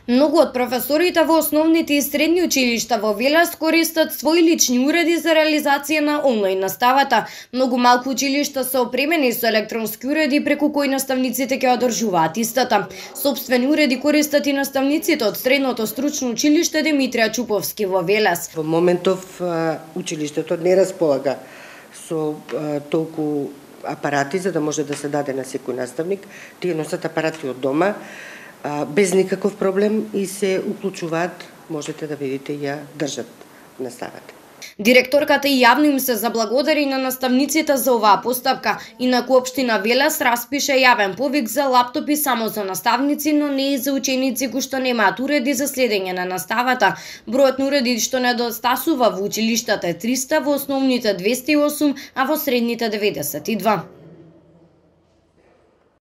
Многу од професорите во основните и средни училишта во Велес користат своји лични уреди за реализација на онлайн наставата. Многу малку училишта се опремени со електронски уреди преку кои наставниците ќе одржуваат истата. Собствени уреди користат и наставниците од Средното стручно училиште Димитрија Чуповски во Велес. Во моментов училиштето не располага со толку апарати за да може да се даде на секој наставник. Тие носат апарати од дома без никаков проблем и се уклучуваат, можете да видите, ја држат наставата. Директорката и јавно им се заблагодари на наставниците за оваа постапка. Инаку општина Велес распише јавен повик за лаптопи само за наставници, но не и за ученици кои што немаат уреди за следење на наставата. Бројот на уреди што недостасува во училиштата е 300, во основните 208, а во средните 92.